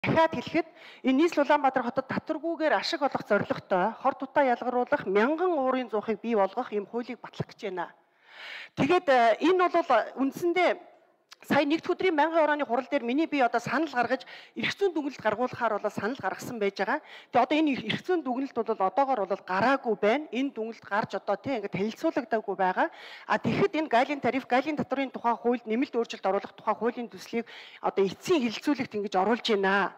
дахиад хэлэхэд энэ нийслэл Улаанбаатар хотод татваргүйгээр ашиг олох зорилготой хор тутаа ялгаруулах 1000 уурын зуухыг бий болгох ийм хуулийг батлах гэж байна. Тэгээд энэ бол үндсэндээ сая нэгд өдрийн байнгын орооны хурал дээр миний би одоо санал гаргаж эрх зүйн дүгнэлт гаргуулахаар бол санал гаргасан байж байгаа. Тэгээ одоо энэ эрх зүйн дүгнэлт бол одоогоор бол гараагүй байна. Энэ дүгнэлт гарч одоо тийм ингээд танилцуулагдаагүй байгаа. А тэгэхэд энэ гайлын тариф, гайлын татврын тухай хуульд нэмэлт өөрчлөлт оруулах тухай хуулийн төслийг одоо эцсийн хэлэлцүүлэгт ингэж оруулж байна.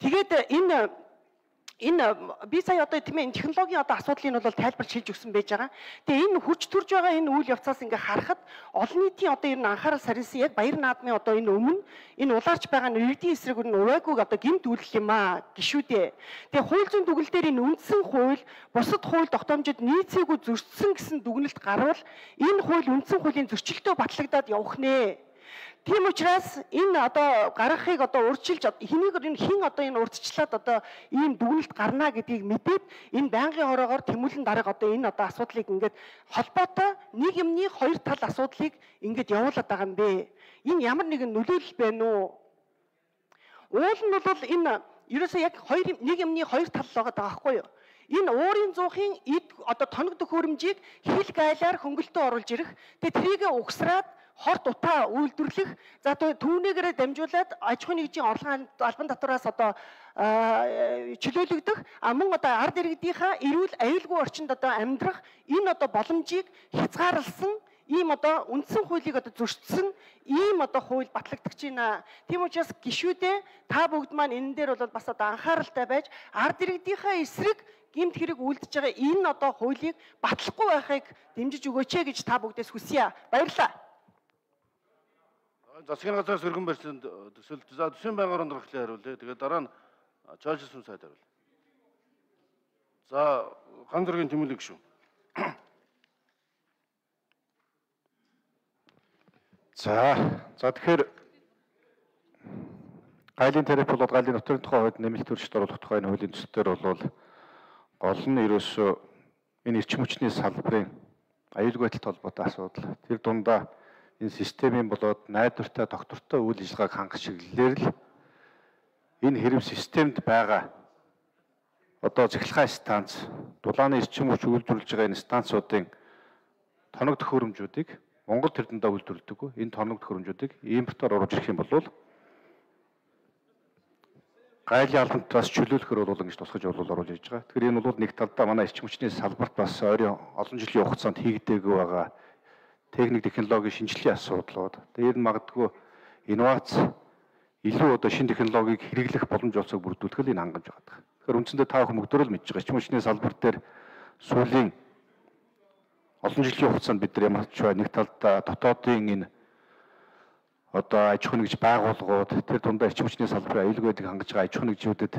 Тэгээд энэ би сая одоо тийм ээ технологийн одоо асуудлыг бол тайлбарч хэлж өгсөн байж байгаа. Тэгээ энэ хүч төрж байгаа энэ үйл явцаас ингээ харахад олон нийтийн одоо ер нь анхаарал сарилсан яг баяр наадмын одоо энэ өмнө энэ улаарч байгаа нь иргэдийн эсрэг нь увайгүйг одоо гэмт үйлдэл юм аа гişүүдээ. Тэгээ хууль зүйн дүгнэлт дээр энэ үндсэн хууль бусад хууль тогтоомжид нийцээгүй зөрчсөн гэсэн дүгнэлт гарвал энэ хууль үндсэн хуулийн зөрчилтөө батлагдаад явах нэ. Тийм учраас энэ одоо гаргахыг одоо урьдчилж хэнийг хин одоо энэ урьдчилаад одоо ийм дүгнэлт гарна гэдгийг мэдээд энэ байнгын хороогоор тэмүүлэн дарга одоо энэ одоо асуудлыг ингээд холбоотой нэг юмны хоёр тал асуудлыг ингээд явуулаад байгаа юм бэ. Энэ ямар нэгэн нөлөөлөл байна уу? Уул нь бол энэ ерөөсөө яг нэг юмны хоёр тал байгаа байхгүй юу? Энэ уурын зуухын эд одоо тоног төхөөрөмжийг хил гайлаар хөнгөлтөө оруулж ирэх. Тэгээ трийгээ угсраад хор дутаа үйлдвэрлэх за түүнийгээрээ дамжуулаад аж ахуйн нэгжийн орлогын албан татвараас одоо чөлөөлөгдөх мөн одоо ард иргэдийнхаа эрүүл аюулгүй орчинд одоо амьдрах энэ одоо боломжийг хязгаарласан ийм одоо үндсэн хуулийг одоо зөрчсөн ийм одоо хууль батлагдаж байна. Тийм учраас гишүүдээ та бүгд маань энэ дээр бол бас одоо анхааралтай байж ард иргэдийнхаа эсрэг гэмт хэрэг үлдэж байгаа энэ одоо хуулийг батлахгүй байхыг дэмжиж өгөөч гэж та бүгдээс хүсье. Баярлалаа. Засгийн газраас өргөн барьсан төсөлд за төсвийн байнгын орон нөхцөлийг хариулъя. Тэгээд дараа нь чойжсэн сайд хариулъя. За ган зургийн тэмүүлэг шүү. За тэгэхээр гайлын тариф болоод гайлын нутгийн тухай хувьд нэмэлт өөрчлөлт оруулах тухай энэ хуулийн төсөлтөөр бол гол нь ерөөсөө энэ эрчим хүчний салбарын аюулгүй байдалтай холбоотой асуудал. Тэр дундаа энэ системийн болоод найдвартай доктортой үйл ажиллагааг хангах чиглэлээр л энэ хэрэв системд байгаа одоо цахилгаан станц, дулааны эрчим хүч үйлдвэрлэж байгаа энэ станцуудын тоног төхөөрөмжүүдийг Монгол тэрдэндээ үйлдвэрлэдэг. Энэ тоног төхөөрөмжүүдийг импортоор оруулж ирэх юм бол гайлын албантаас чөлөөлөхөр бол ингэж тусгаж оруулж ирж байгаа. Тэгэхээр энэ бол нэг талдаа манай эрчим хүчний салбарт бас олон жилийн хугацаанд хийгдээгүй байгаа техник технологийн шинжилгээний асуудлууд. Тэр нь магадгүй инновац илүү одоо шинэ технологиг хэрэглэх боломж олцоог бүрдүүлэх нь хангамж байгаа. Тэгэхээр үндсэндээ та бүхэн мөгдөөрөө л мэдж байгаа. Эрчим хүчний салбар дээр сүүлийн олон жилийн хугацаанд бид нар ямар ч бай нэг талдаа дотоодын энэ одоо аж ахуй нэгж байгууллагууд тэр дундаа эрчим хүчний салбарын аюулгүй байдлыг хангаж байгаа аж ахуй нэгжүүдэд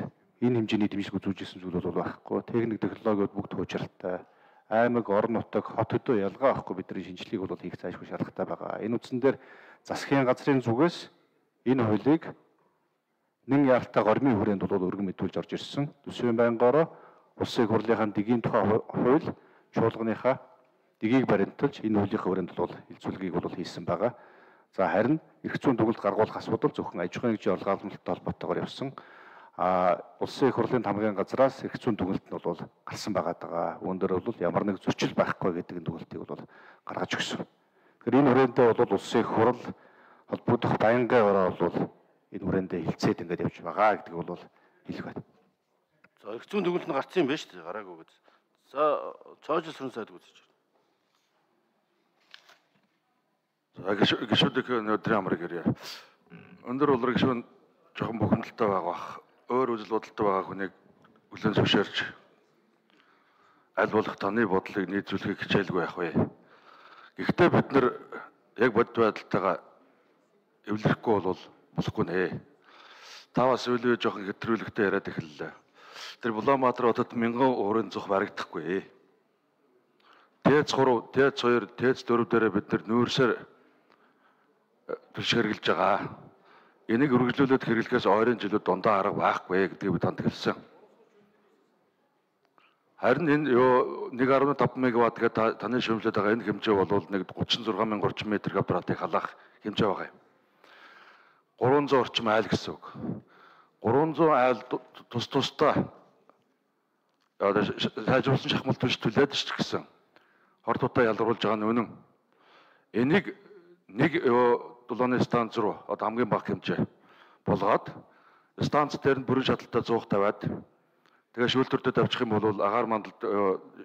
энэ хэмжээний дэмжлэг үзүүлж ирсэн зүйл бол байхгүй. Техник технологиуд бүгд хуучралтай. Аймаг, орон нутаг, хот хөдөө ялгаа авахгүй бидний шинжилгээг бол хийх зайлшгүй шаардлагатай байгаа. Энэ үндсэн дээр засгийн газрын зүгээс энэ хуулийг нэн яалтаа гормын хүрээнд бол өргөн мэдүүлж орж ирсэн. Төсвийн байнгаараа улсын хурлынхаа дэгийн тухай хууль чуулганыхаа дэгийг баримталж энэ хуулийнхаа хүрээнд бол хилцүүлгийг бол хийсэн байгаа. За харин эрх зүйн дүгнэлт гаргуулах асуудал зөвхөн аж ахуйн нэгжийн орлогын албантай холбоотойгоор явсан. Улсын их хурлын тамгын газраас эрх зүйн дүгнэлт нь бол гарсан байгаа. Үүнээр бол ямар нэг зөрчил байхгүй гэдэг дүгнэлтийг бол гаргаж өгсөн. Тэгэхээр энэ хүрээндээ бол улсын их хурл холбогдох байнгын ороо бол энэ хүрээндээ хилцээд ингээд явж байгаа гэдэг бол хэлэх байна. За эрх зүйн дүгнэлт нь гарсан юм байна шүү дээ. Гараагүй гэж. За цоожлсон сайд үзэж байна. За гişүүдийн өдрийн амрыг ирье. Өндөр улраг гişүүн жоохон бухимдалтай байгаа. Өөр үзэл бодолтой байгаа хүнийг хүлээн зөвшөөрч аль болох таны бодлыг нийцүүлэхийг хичээлгүй байх вэ. Гэхдээ бид нар яг бодит байдалтайгаа эвлэрэхгүй бол болохгүй нэ. Та бас үлээ жоохон хэтрүүлэгтэй яриад эхэллээ. Тэр Улаанбаатар хотод 1000 уурын зух барагдахгүй. Тээц 3, тээц 2, тээц 4 дээрээ бид нар нүүрсээр түлшгэргэлж байгаа. Энийг үргэлжлүүлээд хэрэглэхээс ойрын жилүүд дундаа арга байхгүй гэдгийг бид танд хэлсэн. Харин энэ 1.5 мегаватт гэдэг таны шүүмжлээд байгаа энэ хэмжээ бол нэг 36,030 м2-ыг халаах хэмжээ байгаа юм. 300 орчим айл гэсэн үг. 300 айл тус тусдаа сайжруулсан шахмал түвш түлээд ч гэсэн хор тутаа ялгаруулж байгаа нь үнэн. Энийг нэг дулааны станц руу одоо хамгийн бага хэмжээ болгоод станц дээр нь бүрэн шаталтай 100 тавиад тэгээ шүүлтүрдэд авчих юм бол агаар мандалд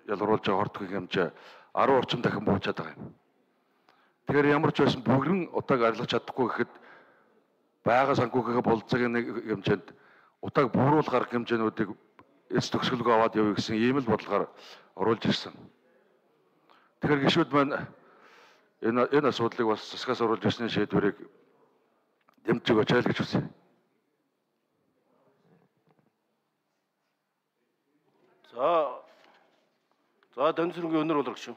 ялгаруулж байгаа хортгийн хэмжээ 10 орчим дахин буучаад байгаа юм. Тэгэхээр ямар ч байсан бүгрэн утааг арилгах чадахгүй гэхэд байгаа санхүүгийн болцоогийн нэг хэмжээнд утааг бууруулах арга хэмжээнүүдийг эс төгсгөлгөө аваад явъя гэсэн ийм л бодлогоор оруулж ирсэн. Тэгэхээр гишүүд маань энэ асуудлыг бас засгаас оруулж ирсний шийдвэрийг дэмжиж өгөөч гэж хүсье. За Донцрынгийн өнөр болгох шүү.